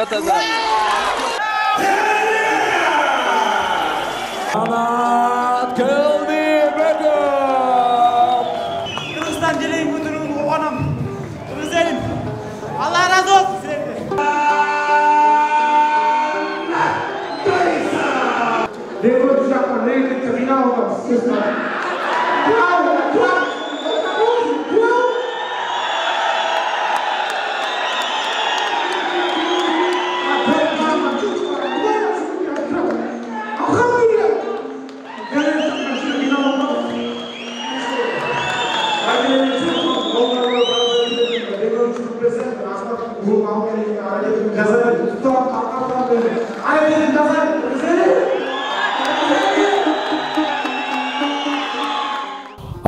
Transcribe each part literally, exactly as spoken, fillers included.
таза таза. Анат келди бөгөм. Кыргызстан желең көтөрүүнү кубанам. Кыргыз элим. Алла разы болсун силерге. Depois já falei que terminar o sistema.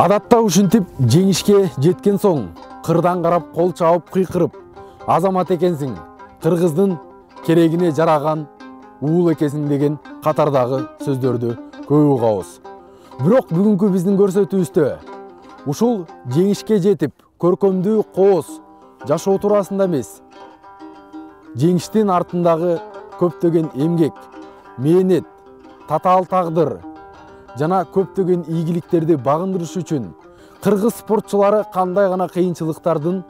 Адатта ушинтип жеңишке жеткен соң кырдан карап кол чабып кыйкырып, азамат экенсиң, кыргыздын керегине жараган уул экенсиң деген катардагы сөздөрдү көп угабыз. Бирок бүгүнкү биздин көрсөтүүбүздө ушул жеңишке жетип, көркөмдүү кооз жашоо туурасында эмес, жеңиштин артындагы көптөгөн эмгек, мээнет, татаал тагдыр жана көптөгөн ийгиликтерди багындырыш үчүн кыргыз спортчулары кандай гана кыйынчылыктардын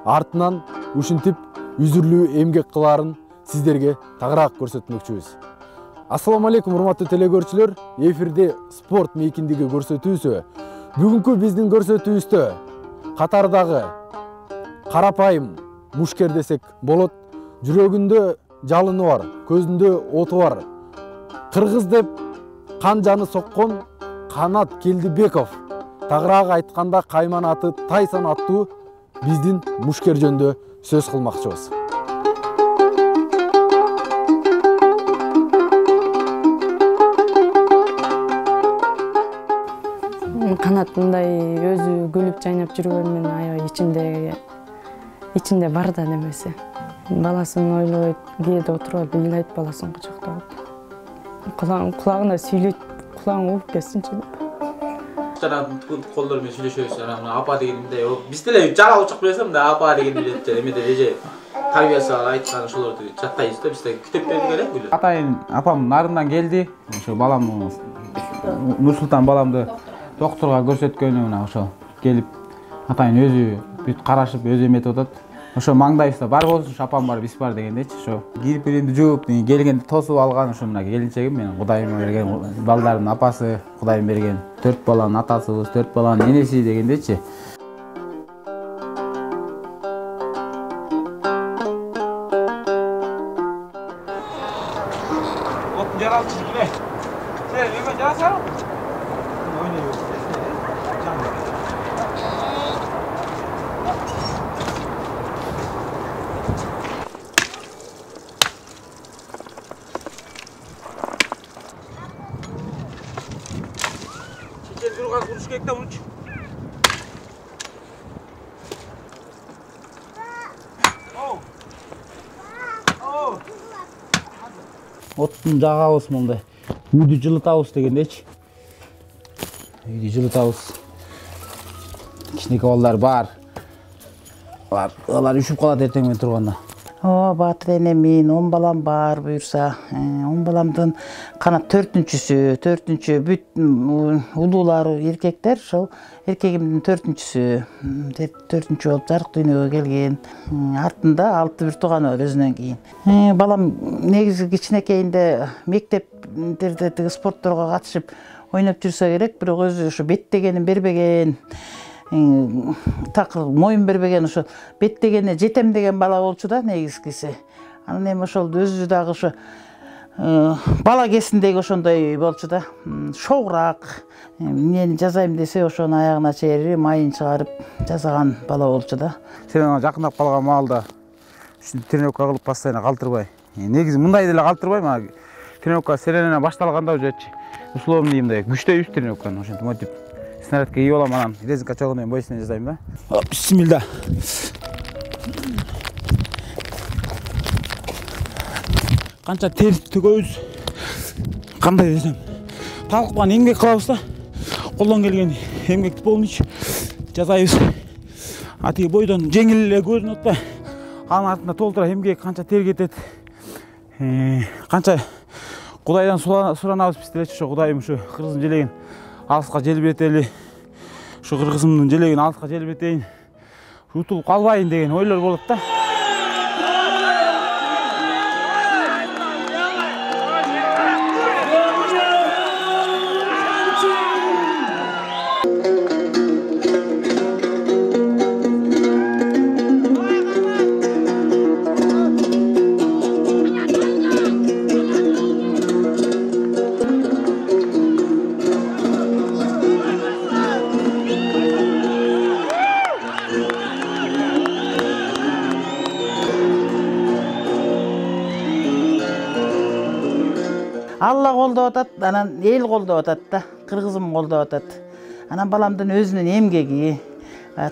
артынан ушинтип үзүрлүү эмгек кылаарын сиздерге тагыраак көрсөтмөкчүбүз. Ассаламу алейкум урматтуу телекөрүүчүлөр, эфирде спорт мейкиндиги көрсөтүүсү. Бүгүнкү биздин көрсөтүүбүздө катардагы карапайым мушкер десек болот, жүрөгүндө жалыны бар, көзүндө оту бар, кыргыз деп кан жаны соккон Канат Келдибеков, тагыраак айтканда Кайман аты Тайсон аттуу биздин мушкер жөнүндө сөз кылмакчыбыз. Канат мындай өзү күлүп жайнап жүргөнүн аябай ичинде ичинде бар да немеси. Баласын ойлойт, кээде отуруп алып ыйлайт, баласын кучактап. Кулагына сүйлөйт, кулагың угуп кетсинчи деп. Колдор менен сүйлөшөбүз, анан апа дегенде, биз деле жара учак билесем да, апа деген билет, эмеде эже тарбиясы айткан ошолорду жаттайбыз да, биз деле күтүп берип элек. Атайын апам нарындан келди, ошо балам Нурсултан баламды доктурга көрсөткөнү мына ошо келип атайын өзү бүт карашып өзү эметип атат. Ошо маңдайыбызда бар болсун, апам бар, биз бар дегендечи, ошо кирпиримди жууп, келгенде тосуп алган ошо мына келинчегим, менин Кудайым берген балдардын апасы, Кудайым берген төрт баланын атасыбыз, төрт баланын энеси дегендечи. Отун жаралчы биле. Сен эме жарасаң? Ойнойбуз. Durgan kuruş kekte uç. Oh. Oh. Оттун жагабыз мындай. Үйдү жылытабыз дегендечи. Үйдү жылытабыз. Кичинекей балдар бар. Алар, алар үшүп калат эртең менен турганда. О, Батыр энемин, он балам бар буюрса. он баламдын Канат төртүнчүсү, төртүнчү бүт улуулары эркектер, ошол эркегимдин төртүнчүсү, төртүнчү болуп жарык дүйнөгө келген. Артында алты бир тууганы бар өзүнөн кийин. Балам негизи кичинекейинде мектептерде тиги спортторго катышып ойноп жүрсө керек, бирок өзү ошо беттегенин бербеген. Такыр моюн бербеген, ошо беттегенине жетем деген бала болчу да негизгиси. Анан эми ошол өзү дагы ошо бала кезиндеги ошондой болчу да. Шоураак, эмнени жазайм десе ошону аягына чейин майын чыгарып жазаган бала болчу да. Сен ага жакындап калган маалда ушинтип тренировка кылып постоянно калтырбай. Негизи мындай деле калтырбайм, а тренировка серенен башталганда уже условный мындай күчтөйбүз тренировканы, ошентип мотип снарядка кийип алам, анан резинка чогунан боюсуна жасайм да. Бисмилла. Канча тер төгөбүз, кандай десем, талкпан эмгек кылабыз да. Колдон келген эмгекти полночь жасайбыз. Атиги бойдон жеңил эле көзүн атпай, анын артында толтура эмгек канча тер кетет. канча Кудайдан суранабыз биз делечи, ошо Кудайым ушу кыргыздын желегин алыска желбиретели, ушу кыргызымдын желегин алыска желбиретейин, утулуп калбайын деген ойлор болот да. Алла колдоп атат, анан эл колдоп атат да, кыргызым колдоп атат. Анан баламдын өзүнүн эмгеги,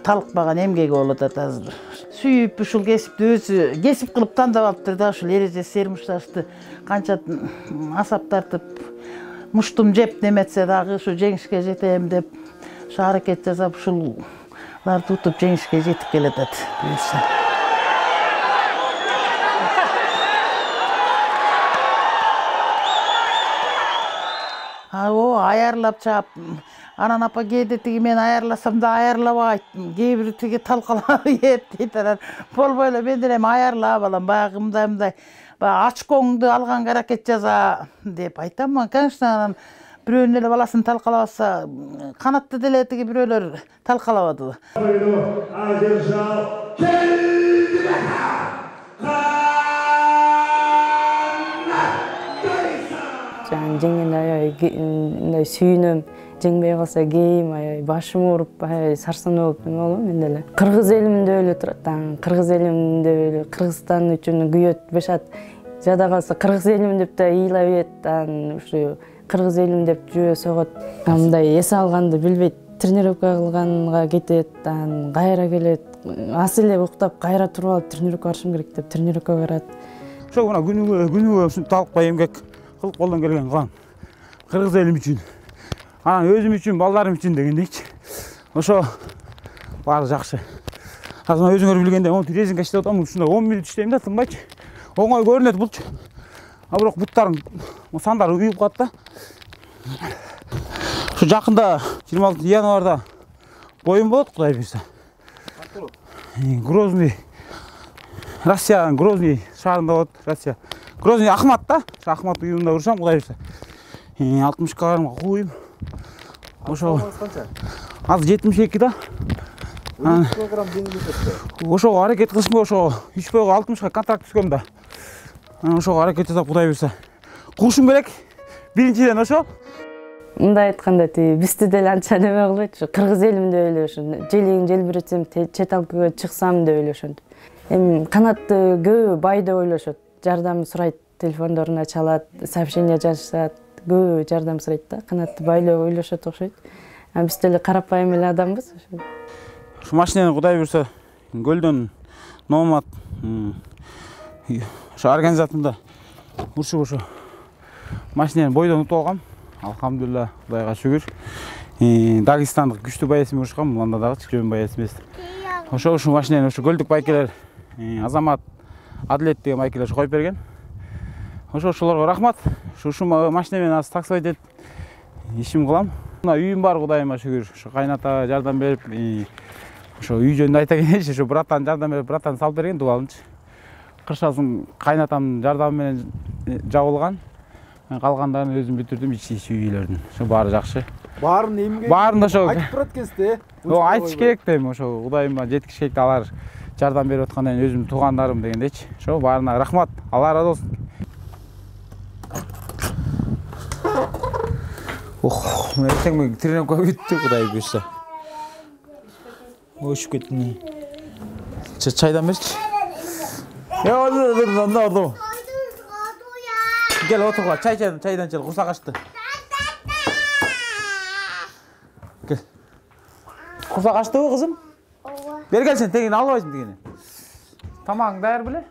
талыкпаган эмгеги болуп атат азыр. Сүйүп ушул кесипти өзү кесип кылып тандап алыптыр да, ушул эреже сермушташты канча асап тартып, муштум жеп неметсе дагы ушу жеңишке жетем деп ушу аракет жасап ушуларды утуп жеңишке жетип келатат. Буюрса. О, аярлап чап. Анан апа кээде тиги мен аярласам да аярлабайт. Кээ бир тиги талкалап ет дейт. Анан болбой эле мен деле аярла балам, баягы мындай мындай баягы очкоңду алганга аракет жаса деп айтам. Конечно, анан бирөөнүн эле баласын талкалабаса, канатты деле тиги бирөөлөр талкалабады. Жеңген аябай мындай сүйүнөм, жеңбей калса кейим аябай башым ооруп, аябай сарсануу болуп эме болом мен деле. Кыргыз элимде эле турат, кыргыз элимде эле Кыргызстан үчүн күйөт, бешат. Жада калса кыргыз элим деп да ыйлап ийет, ушу кыргыз элим деп жөө согот. Мындай эс алганды билбейт, тренировка кылганга кетет, кайра келет. Ас эле уктап, кайра туруп алып тренировка барышым керек деп тренировкага барат. Ошо мына күнүгө күнүгө ушинтип талыкпай эмгек кылып колдон келген кылам. Кыргыз элим үчүн, анан өзүм үчүн, балдарым үчүн дегендейчи. Ошо баары жакшы. Азыр өзүңөр билгендей, монтип резинка иштеп атам, ушундай он мүнөт иштейм да, тынбайчы. Оңой көрүнөт булчу. А бирок буттарым, сандары уюп калат да. Ушу жакында жыйырма алтынчы январда боюм болот, Кудай буйрса. Грозный, Россиянын Грозный шаарында болот, Россия. Грозный Ахмат да, Ахмат уюмунда урушам, Кудай буйрса. алтымыш килограммга кууйм. Ошо азыр жетимиш эки да. килограмм жеңилдетет. Ошого аракет кылышым, ошо үч бойго алтымышка контракт түзгөм да. Ошого аракет жасап, Кудай буйрса куушум керек. Биринчиден ошо. Мындай айтканда, тиги бизди деле анча неме кылбайт, кыргыз элимде эле ушу желегин желбиретсем, чет алкага чыксам деп эле ошентип. Эми канатты көбү бай деп ойлошот. Жардам сурайт, телефондоруна чалат, сообщение жазышат, көбү жардам сурайт да. Канатты бай деп ойлошот окшойт. А биз деле карапайым эле адамбыз. Ушу машинени Кудай буйрса көлдөн Номат ошо организатында урушуп ошо машинени бойдон утуп алгам. Алхамдулилла, Кудайга шүгүр. Дагестандык күчтүү байесимен урушкам, анда дагы жөн байес эмес. Ошо ушу машинени ушу көлдүк байкелер Азамат, Адилет деген байкелер коюп берген. Ошо ошолорго рахмат. Ушу машина менен азыр таксовать этип ишим кылам. Мына үйүм бар, Кудайыма шүгүр. Ошо кайната жардам берип, ошо үй жөнүндө айта кетейинчи, ошо братан жардам берип, братан салып берген дубалынчы. Кыршасын кайнатамдын жардамы менен жабылган. Мен калгандарын өзүм бүтүрдүм, ичи-ичи үйлөрдүн. Ошо баары жакшы. Баарын эмге? Баарын ошо айтып турат экенсиз э? О, айтыш керек дейм, ошо Кудайыма жеткиш керек, алар жардам берип аткандан кийин өзүмдүн туугандарым дегендейчи. Ошо баарына рахмат. Алла ыраазы болсун. Ох, мен эртең мен тренировкага бүттү, Кудай буйрса. Өшүп кеттим. Чайдан берчи. Э, мында ордо. Gel otur, çay çaydan çaydan çal, kursak açtı. Gel. Kursak açtı mı kızım? Ver gel sen, tegini almayasın tegini. Tamam, dayar bile.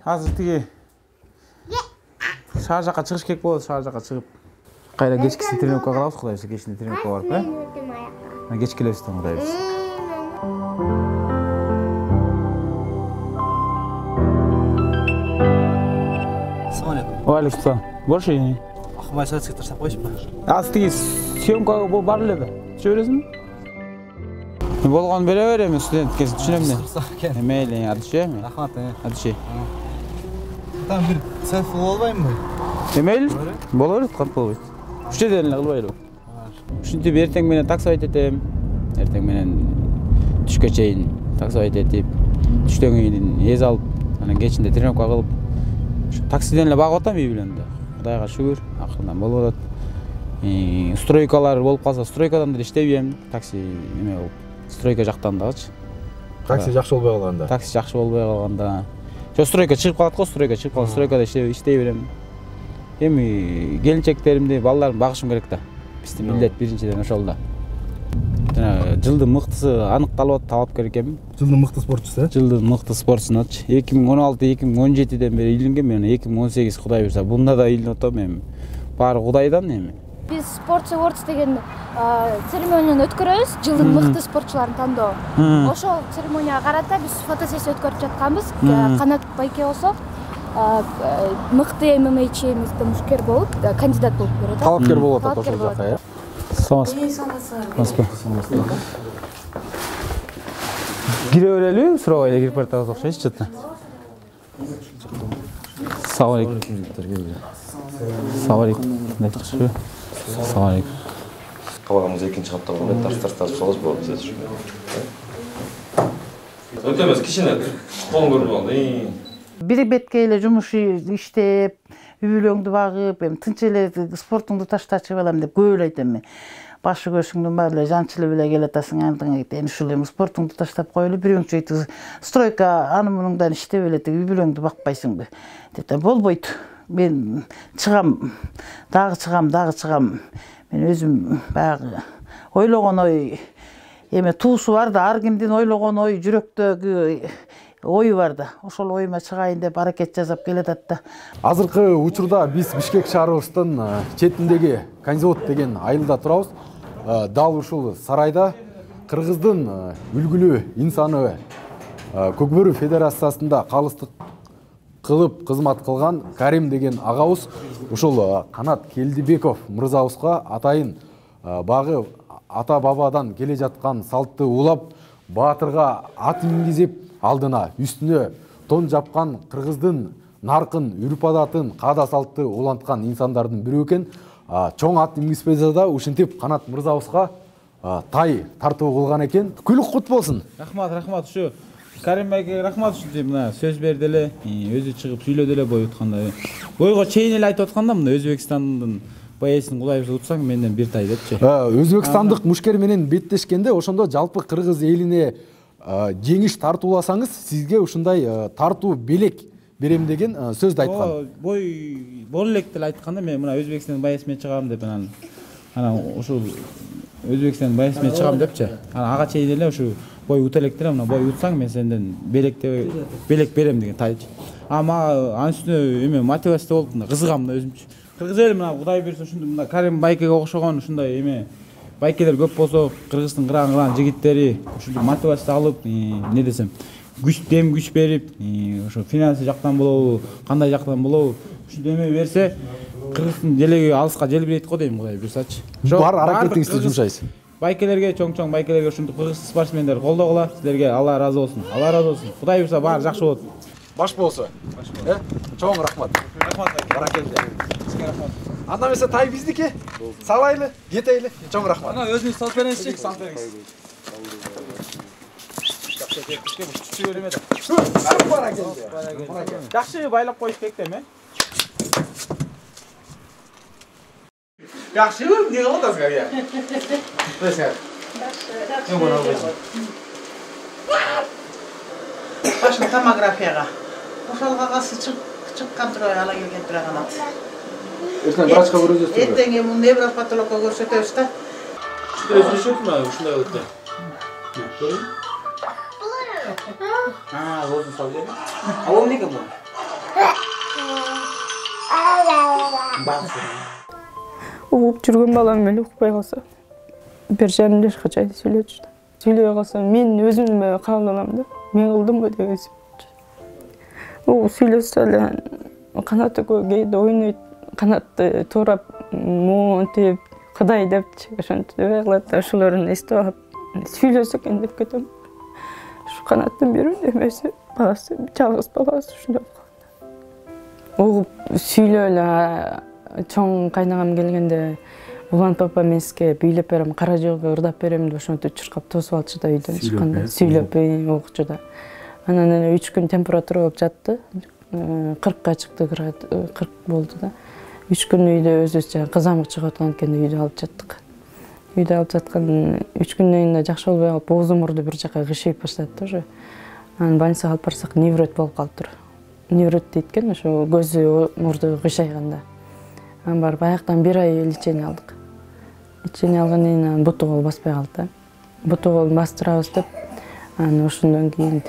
Hazır tegi. Şahar жаққа çıkış kek болады, şahar жаққа çıkıp. Kayra geçkisini trenirovka kılavuz, Kuday buyrsa, geçkisini trenirovka barıp, he? Geç kelebizden, Kuday buyrsa. Assalamualaikum. Валейкум. Бош. Ахмай сатсыз таштап коюшпу? Астыгы съемкага бул бар эле. Түшө бересиңби? Болгон бере берем, студентке түшүнөм мен. Мейли, ады түшө эми? Рахмат. Ады түшө. Там бир селфи болбойбу? Эмейли? Боло берет, кантип болбойт. Үчтө деле кылбайлы. Ушинтип эртең менен таксовать этем. Эртең менен түшкө чейин таксовать этип, түштөн кийин эз алып, анан кечинде тренировка кылып, таксиден эле багып атам үй билен да. Кудайга шүгүр, акырындан болуп атат. Стройкалар болуп калса, стройкадан деле иштебейм. Такси эме болуп, стройка жактан дагычы. Такси жакшы болбой калганда. Такси жакшы болбой калганда. Жо стройка чыгып калат го, стройка чыгып калса, стройкада иштей берем. Эми келинчектеримди, балдарымды багышым керек да. Биздин милдет биринчиден ошол да. Жана жылдын мыктысы аныкталып атат, талапкер экенмин. Жылдын мыкты спортчусу, э? Жылдын мыкты спортчусуначы. эки миң он алты эки миң он жетиден бери илинген, мен эки миң он сегиз Кудай буйрса, бунда да илинип атам эми. Баары Кудайдан эми. Биз Sports Awards деген церемонияны өткөрөбүз, жылдын мыкты спортчуларын тандоо. Ошол церемонияга карата биз фотосессия өткөрүп жатканбыз. Канат Байке болсо мыкты эм эм эйчи мушкер болуп, кандидат болуп берет. Талапкер болуп атат ошол жакка, э? Саламатсызбы? Кире берелиби? Сурабай эле кирип баратабыз окшойт чыты. Салам алейкум. Салам алейкум. Кандайчы? Салам алейкум. Кабагымыз экинчи катта болгон таштартып салабыз болот биз. Өтөмөс кичине колун көрүп алды. Бир бетке эле жумуш иштеп, үй бүлөңдү багып, эми тынч эле спортуңду таштачы балам деп көп эле айтам мен. Башы көшүңдүн баары эле жанчылып эле келатасың, андыгы эми ушул эми спортуңду таштап коелу, бирөөңчү стройка аны мунуңдан иштеп эле үй бүлөңдү бакпайсыңбы деп болбойт. Мен чыгам, дагы чыгам, дагы чыгам. Мен өзүм баягы ойлогон ой эме туусу бар да, ар кимдин ойлогон ой жүрөктөгү ою бар да. Ошол оюма чыгайын деп аракет жасап келатат да. Азыркы учурда биз Бишкек шаарыбыздын четиндеги Канзавод деген айылда турабыз. Дал ушул сарайда Кыргыздын үлгүлүү инсаны Көкбөрү федерациясында калыстык кылып кызмат кылган Карим деген агабыз ушул Канат Келдибеков мырзабызга атайын багы ата бабадан келе жаткан салтты улап, баатырга ат мингизип, алдына үстүнө тон жапкан Кыргыздын наркын, үрп-адатын, каада салтты уланткан инсандардын бирөө экен. Чоң ат мингизбесе да ушинтип Канат мырзабызга тай тартуу кылган экен. Күлүк кут болсун. Рахмат, рахмат. Ушу Карим байке рахмат ушинтип мына сөз берди эле, өзү чыгып сүйлөдү эле бой утканда. Бойго чейин эле айтып атканда мына Өзбекстандын баесин Кудай буйрса утсаң менден бир тай депчи. Өзбекстандык мушкер менен беттешкенде ошондо жалпы кыргыз элине жеңиш тартууласаңыз, сизге ушундай тартуу белек берем деген сөздү айткан. Бой бол элек деле айтканда мен мына Өзбекстандын баесине чыгам деп анан анан ушул Өзбекстандын баесине чыгам депчи. Анан ага чейин эле ушу бой ута элек деле мына бой утсаң мен сенден белек белек берем деген тайчы. Ама анын үстүнө эме мотивация болуп мына кызыгам мына өзүмчү. Кыргыз эли мына Кудай буйрса ушундай мына Карим байкеге окшогон ушундай эме байкелер көп болсо, Кыргыздын кыран-кыран жигиттери ушундай мотивация алып, не десем, күч дем күч берип, ошо финансы жактан болобу, кандай жактан болобу, ушундай эме берсе, Кыргыздын делеги алыска желбирейт го дейм Кудай буйрсачы. Бар аракетиңизди жумшайсыз. Байкелерге, чоң-чоң байкелерге ушундай кыргыз спортсмендер колдогула, силерге Алла ыраазы болсун. Алла ыраазы болсун. Кудай буйрса баары жакшы болот. Баш болсо. Э? Чоң рахмат. Рахмат. Баракелде. Сизге рахмат. Анда эмесе тай биздики. Салайлы, кетейли. Чоң рахмат. Ана өзүңүз салып бериңизчи. Салып бериңиз. Жакшы байлап коюш керек да эме. Жакшыбы? Эмне кылып атасыңар я? Бесер. Башын томографияга. Ошол кагазы чыккан турабы ала келген тура канат. Эртең врачка көрсөтөсүз. Эртең эми невропатологко көрсөтөбүз да. Өзүнчө ушундай болот да. А, болду салып берем. А ол эмнеге бул? Угуп жүргөн балам эле укпай калса, бир жарым жашка чейин сүйлөчү. Сүйлөбөй калса, мен өзүм кабыл алам да. Мен кылдымбы деген сөз. О, сүйлөсө эле канаты көп кээде ойнойт, канатты туурап монтип Кудай депчи ошентип дебей калат. Ошолорун эстеп алып сүйлөсө экен деп кетем. Ушу канаттын бир эмеси баласы, жалгыз баласы ушундай болгон. Угуп сүйлөп эле чоң кайнагам келгенде улан папа мен сизге бийлеп берем, кара жолго ырдап берем деп ошентип чуркап тосуп алчу да үйдөн чыкканда. Сүйлөп угучу да. Анан эле үч күн температура болуп жатты. кыркка чыкты, кырк болду да. үч күн үйдө өзүбүз кызамык чыгып аткан экен үйдө алып жаттык. Үйдө алып жаткан үч күндөн кийин жакшы болбой калып, оозу мурду бир жака кышыйып баштады да уже. Анан больницага алып барсак, неврот болуп калыптыр. Неврот дейт экен, ошо көзү мурду кышайганда. Анан барып аяктан бир ай лечение алдык. Лечение алгандан кийин буту кол баспай калды да. Буту колун бастырабыз деп, анан ошондон кийин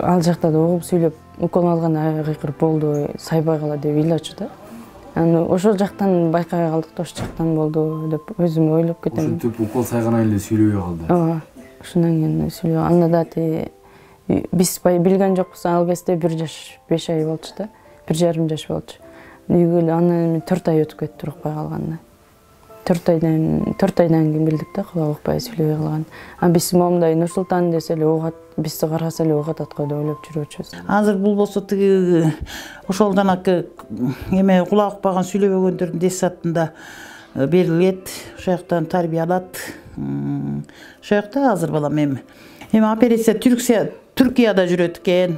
ал жакта да угуп сүйлөп, укол алган айгыр болду, сайбай кала деп ыйлачу да. Анан ошол жактан байкабай калдык да, ошол жактан болду деп өзүм ойлоп кетем. Ошентип укол сайганан эле сүйлөбөй калды. Ооба. Ошондон кийин сүйлөп, анда да ти биз билген жокпуз, ал кезде бир жаш беш ай болчу да. бир жарым жаш болчу. Үйгө анан төрт ай өтүп кетти укпай калганда. төрт айдан төрт айдан кийин билдик да, кулак укпай сүйлөбөй калган. Анан биз момундай Нур Султан десе эле угат, бизди караса эле угат аткой деп ойлоп жүрөчүбүз. Азыр бул болсо тиги ошол жанакы эме кулак укпаган сүйлөбөгөндөрдүн детсадында берилет, ошол жактан тарбия алат. Ошол жакта азыр балам эми эми операция Түркия Түркияда жүрөт экен.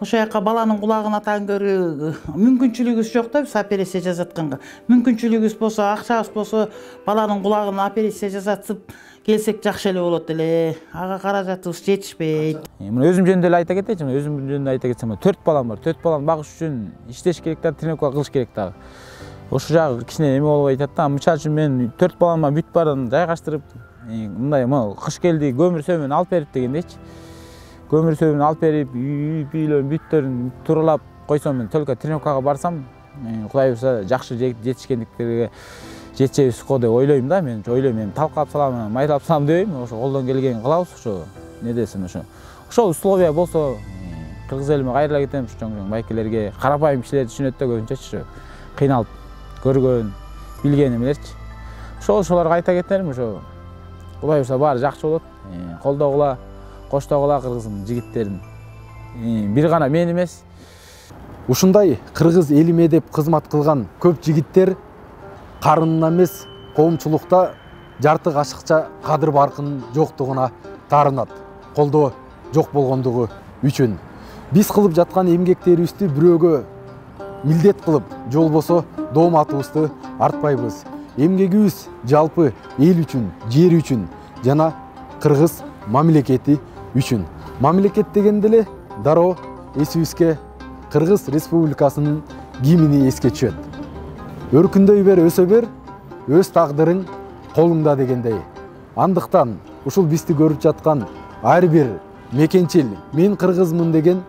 Ошол жака баланын кулагын атан көрүү мүмкүнчүлүгүбүз жок да, биз операция жасатканга. Мүмкүнчүлүгүбүз болсо, акчабыз болсо, баланын кулагын операция жасатып келсек жакшы эле болот эле. Ага каражатыбыз жетишпейт. Мына өзүм жөнүндө эле айта кетейинчи, мына өзүм жөнүндө айта кетсем, төрт балам бар. төрт баланы багыш үчүн иштеш керек да, тренировка кылыш керек дагы. Ошол жагы кичине эме болбой атат да. Мисалы үчүн мен төрт балама бүт баарын жайгаштырып, мындай кыш келди, көмүр сөмөн алып берип дегендейчи. Көмүр сөмөн алып берип, үйлөрүн бүттөрүн туралап койсом, мен только тренировкага барсам, Кудай буюрса жакшы жетишкендиктерге жетишебиз го деп ойлойм да. Мен ойлойм, эми талкалап салам, майлап салам дебейм. Ошо колдон келгенин кылабыз, ошо не десем ошо. Ошол условия болсо, кыргыз элиме кайрыла кетем, чоң-чоң байкелерге, карапайым кишилер түшүнөт да көбүнчөчү. Кыйналып көргөн, билген эмелерчи. Ошол ошолорго айта кетерим, ошо Кудай буюрса баары жакшы болот. Колдогула, коштогула кыргыздын жигиттерин. Бир гана мен эмес. Ушундай кыргыз элиме деп кызмат кылган көп жигиттер карынына эмес, коомчулукта жарты кашыкча кадыр баркынын жоктугуна таарынат. Колдоо жок болгондугу үчүн. Биз кылып жаткан эмгектерибизди бирөөгө милдет кылып, же болбосо дооматыбызды артпайбыз. Эмгегибиз жалпы эл үчүн, жер үчүн жана кыргыз мамлекети үчүн. Мамлекет дегенде эле дароо эсибизге Кыргыз Республикасынын гимни эске түшөт. Өркүндөй бер, өсө бер, өз тагдырың колуңда дегендей. Андыктан ушул бизди көрүп жаткан ар бир мекенчил мен кыргызмын деген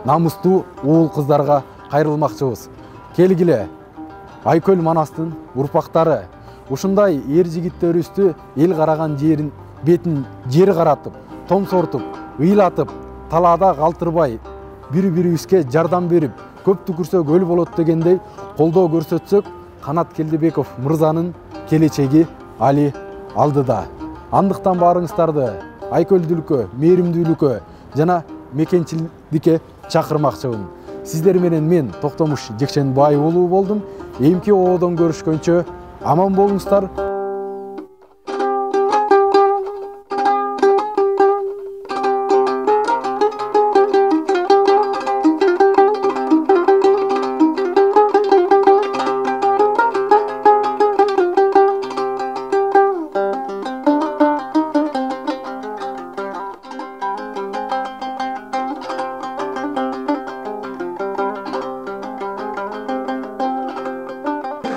намустуу уул кыздарга кайрылмакчыбыз. Келгиле, Айкөл Манастын урпактары ушундай эр жигиттерибизди эл караган жерин бетин жер каратып, томсортуп, ыйлатып, талаада калтырбай, бири-бирибизге жардам берип, көп түкүрсөк өл болот дегендей колдоо көрсөтсөк, Канат Келдебеков мырзанын келечеги али алдыда. Андыктан баарыңыздарды айкөлдүүлүккө, мээримдүүлүккө жана мекенчилдикке чакырмакчымын. Сиздер менен мен Токтомуш Жекшенбай уулу болдум. Эмки оодон көрүшкөнчө аман болуңуздар.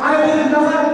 Hayır,